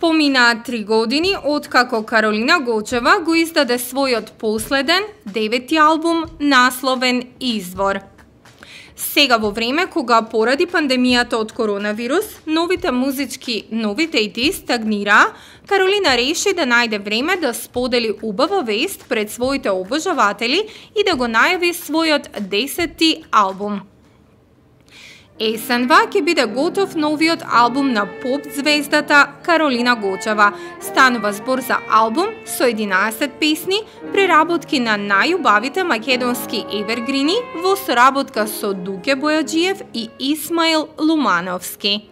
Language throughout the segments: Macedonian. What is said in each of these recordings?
Поминаа 3 години откако Каролина Гочева го издаде својот последен, 9-ти албум насловен Извор. Сега во време кога поради пандемијата од коронавирус, новите музички новитети стагнираа, Каролина реши да најде време да сподели убава вест пред своите обожаватели и да го најави својот 10-ти албум. Есенва ќе биде готов новиот албум на поп звездата Каролина Гочева. Станува збор за албум со 11 песни, преработки на најубавите македонски евергрини во соработка со Дуке Бојаджиев и Исмаил Лумановски.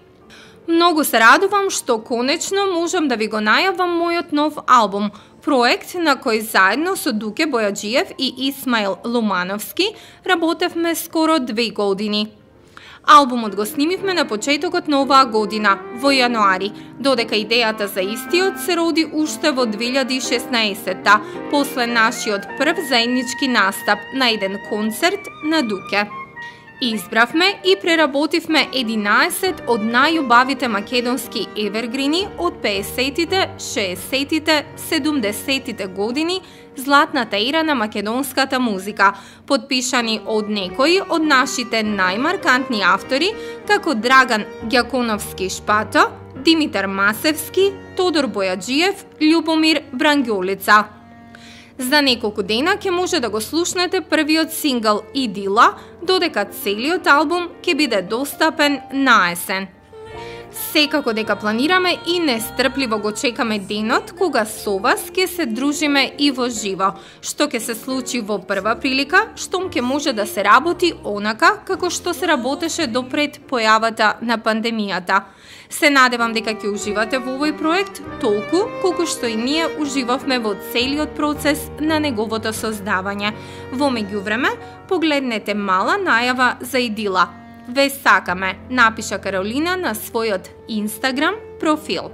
Многу се радувам што конечно можам да ви го најавам мојот нов албум, проект на кој заедно со Дуке Бојаджиев и Исмаил Лумановски работевме скоро 2 години. Албумот го снимивме на почетокот на оваа година, во јануари, додека идејата за истиот се роди уште во 2016-та, после нашиот прв заеднички настап на еден концерт на Дуке. Избравме и преработивме 11 од најубавите македонски евергрини од 50-тите, 60-тите, 70-тите години, златната ера на македонската музика, подпишани од некои од нашите најмаркантни автори, како Драган Ѓаконовски-Шпато, Димитар Масевски, Тодор Бојаджиев, Љубомир Брангјолица. За неколку дена ќе може да го слушнете првиот сингл Идила, додека целиот албум ќе биде достапен на есен. Секако дека планираме и нестрпливо го чекаме денот кога со вас ќе се дружиме и во живо, што ќе се случи во прва прилика, штом ќе може да се работи онака како што се работеше допред појавата на пандемијата. Се надевам дека ќе уживате во овој проект толку колку што и ние уживавме во целиот процес на неговото создавање. Во меѓувреме, погледнете мала најава за Идила. Ве сакаме, напиша Каролина на својот Инстаграм профил.